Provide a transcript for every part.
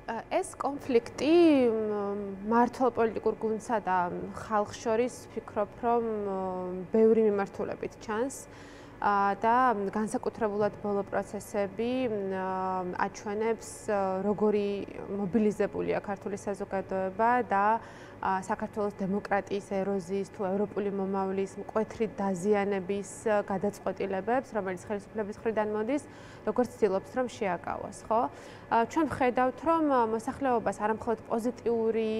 ეს კონფლიქტი მართლ პოლიტიკურ გუნდსა და ხალხს შორის ვფიქრობ, რომ ბევრი მიმართულებით ჩანს და განსაკუთრებულად ბოლო პროცესები აჩვენებს, როგორი მობილიზებულია ქართული საზოგადოება და საქართველოს დემოკრატიის ეროზიის თუ ევროპული მომავლის მკვეთრი დაზიანების გადაწყვეტილებებს, რომელიც ხელისუფლების მხრიდან მოდის, როგორც ცდილობს, რომ შეაკავოს, ხო? ჩვენ ვხედავთ, რომ მოსახლეობას არამხოლოდ პოზიტიური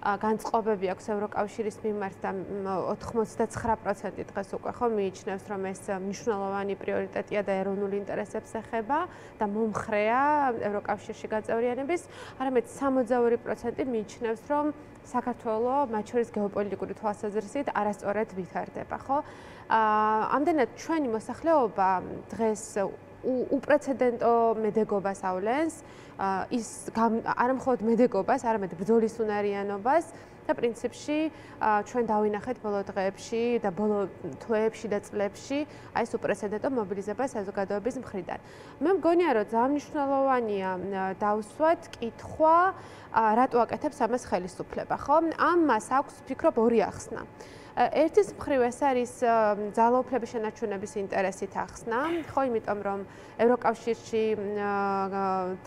განწყობები აქვს ევროკავშირის მიმართ და 99% დღეს უკვე ხო მიიჩნევს, რომ ეს მნიშვნელოვანი პრიორიტეტია და ეროვნული ინტერესებს ეხება და მომხრეა ევროკავშირში გაწევრიანების, არამედ 62% მიიჩნევს, რომ საქართველო მათ შორის გეოპოლიტიკური თვალსაზრისით არასწორად ვითარდება, ხო? ამდენად ჩვენი მოსახლეობა დღეს უპრეცედენტო მედეგობას ავლენს, ის არამხოლოდ მედეგობას, არამედ ბრძოლის უნარიანობას და პრინციპში ჩვენ დავინახეთ ბოლო დღეებში და ბოლო თვეებში და წლებში აი ეს უპრეცედენტო მობილიზება საზოგადოების მხრიდან. მე მგონია, რომ ძალიან მნიშვნელოვანია დავსვათ კითხვა, რატო აკეთებს ამას ხელისუფლება, ხო? ამას აქვს, ვფიქრობ, ორი ახსნა. ერთის მხრივ ეს არის ძალაუფლების შენარჩუნების ინტერესით ახსნა, ხო, იმიტომ რომ ევროკავშირში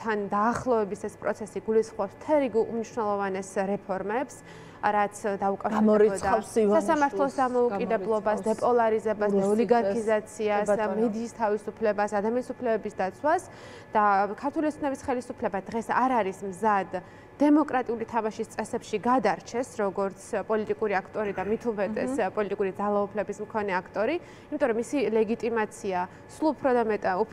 თან დაახლოების ეს პროცესი გულისხმობს მთელ რიგ უმნიშვნელოვანეს რეფორმებს, რაც დაუკავშირდებოდა სასამართლოს დამოუკიდებლობას, დეპოლარიზებას, ოლიგარქიზაციას, მედიის თავისუფლებას, ადამიანის უფლებების დაცვას და ქართული ოცნების ხელისუფლება დღეს არ არის მზად დემოკრატიული თამაშის წესებში გადარჩეს, როგორც პოლიტიკური აქტორი და მით უმეტეს პოლიტიკური ძალაუფლების მქონე აქტორი, იმიტომ რომ მისი ლეგიტიმაცია სულ უფრო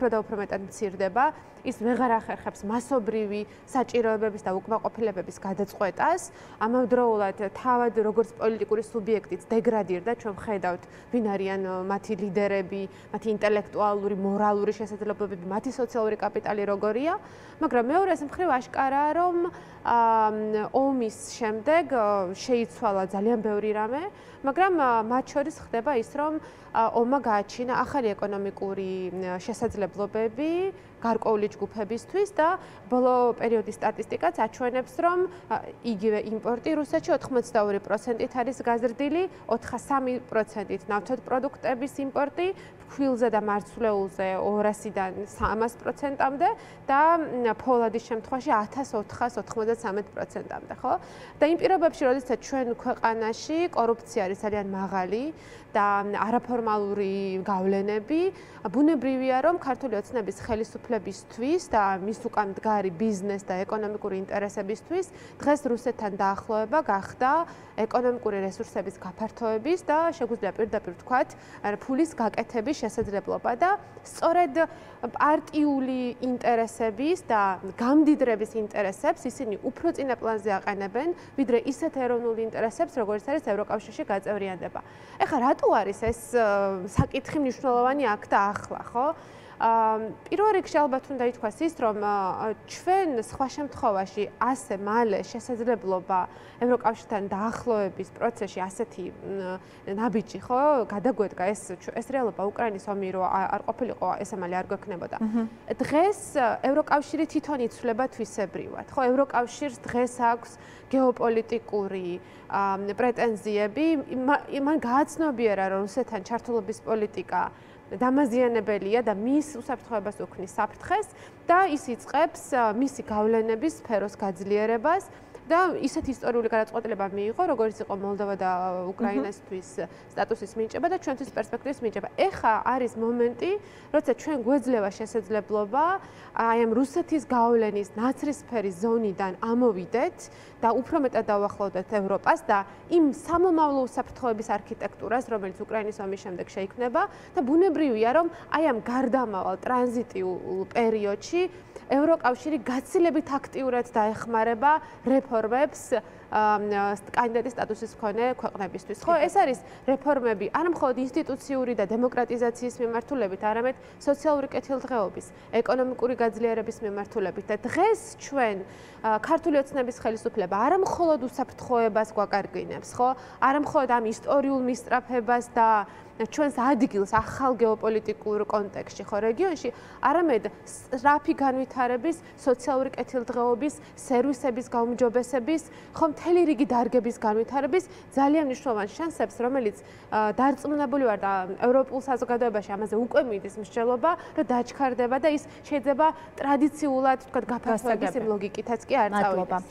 და უფრო მეტად მცირდება, ის ვეღარ ახერხებს მასობრივი საჭიროებების და უკმაყოფილებების გადაწყვეტას, ამავდროულად თავად როგორც პოლიტიკური სუბიექტიც დეგრადირდა, ჩვენ ვხედავთ, ვინ არიან მათი ლიდერები, მათი ინტელექტუალური, მორალური შესაძლებლობები, მათი სოციალური კაპიტალი როგორია, მაგრამ მეორეს მხრივ აშკარაა, რომ ომის შემდეგ შეიცვალა ძალიან ბევრი რამე, მაგრამ მათ შორის ხდება ის, რომ ომმა გააჩინა ახალი ეკონომიკური შესაძლებლობები გარკვეული ჯგუფებისთვის და ბოლო პერიოდის სტატისტიკაც აჩვენებს, რომ იგივე იმპორტი რუსეთში 82%-ით არის გაზრდილი, 83%-ით ნავთობ პროდუქტების იმპორტი, ფქვილზე და მარცვლეულზე 200-დან 300%-მდე და ფოლადის შემთხვევაში 1493%-მდე, ხო? და იმ პირობებში, როდესაც ჩვენ ქვეყანაში კორუფცია არის ძალიან მაღალი და არაფორმალური გავლენები, ბუნებრივია, რომ ქართული ოცნების ხელისუფლებისთვის და მის უკან მდგარი ბიზნეს და ეკონომიკური ინტერესებისთვის დღეს რუსეთთან დაახლოება გახდა ეკონომიკური რესურსების გაფართოების და შეგვიძლია პირდაპირ ვთქვათ, ფულის გაკეთების შესაძლებლობა და სწორედ პარტიული ინტერესების და გამდიდრების ინტერესებს ისინი უფრო წინა პლანზე აყენებენ, ვიდრე ისეთ ეროვნულ ინტერესებს, როგორც არის ევროკავშირში გაწევრიანება. ეხლა რატო არის ეს საკითხი მნიშვნელოვანი აქ და ახლა, ხო? პირველ რიგში ალბათ უნდა ითქვას ის, რომ ჩვენ სხვა შემთხვევაში ასე მალე შესაძლებლობა ევროკავშირთან დაახლოების პროცესში ასეთი ნაბიჯი, ხო, გადაგვედგა ეს რეალობა უკრაინის ომი რო არ ყოფილიყო, ეს ამალი არ გვექნებოდა. დღეს ევროკავშირი თვითონ იცვლება თვისებრივად, ხო, ევროკავშირს დღეს აქვს გეოპოლიტიკური პრეტენზიები, მან გააცნობიერა, რომ რუსეთთან ჩართულობის პოლიტიკა დამაზიანებელია და მის უსაფრთხოებას უქმნის საფრთხეს და ის იწყებს მისი გავლენების სფეროს გაძლიერებას და ისეთ ისტორიული გადაწყვეტილება მიიღო, როგორც იყო მოლდოვა და უკრაინასთვის სტატუსის მინიჭება და ჩვენთვის პერსპექტივის მინიჭება. ეხლა არის მომენტი, როცა ჩვენ გვეძლევა შესაძლებლობა აი ამ რუსეთის გავლენის ნაცრისფერი ზონიდან ამოვიდეთ და უფრო მეტად დავახლოვდეთ ევროპას და იმ სამომავლო უსაფრთხოების არქიტექტურას, რომელიც უკრაინის ომის შემდეგ შეიქმნება და ბუნებრივია, რომ აი ამ გარდამავალ ტრანზიტიულ პერიოდში ევროკავშირი გაცილებით აქტიურად დაეხმარება რეფორმებს კანდიდატის სტატუსის მქონე ქვეყნებისთვის. ხო, ეს არის რეფორმები არა მხოლოდ ინსტიტუციური და დემოკრატიზაციის მიმართულებით, არამედ სოციალური კეთილდღეობის, ეკონომიკური გაძლიერების მიმართულებით და დღეს ჩვენ ქართული ოცნების ხელისუფლება არა მხოლოდ უსაფრთხოებას გვაკარგვინებს, ხო? არა მხოლოდ ამ ისტორიულ მისწრაფებას და ჩვენს ადგილს ახალ გეოპოლიტიკურ კონტექსტში, ხო, რეგიონში, არამედ სწრაფი განვითარების, სოციალური კეთილდღეობის, სერვისების გაუმჯობესების, ხო, მთელი რიგი დარგების განვითარების ძალიან მნიშვნელოვან შანსებს, რომელიც დარწმუნებული ვარ და ევროპულ საზოგადოებაში ამაზე უკვე მიდის მსჯელობა, რომ დაჩქარდება და ის შეიძლება ტრადიციულად, თქვა, გაფართოების იმ ლოგიკითაც კი არ წავიდეს.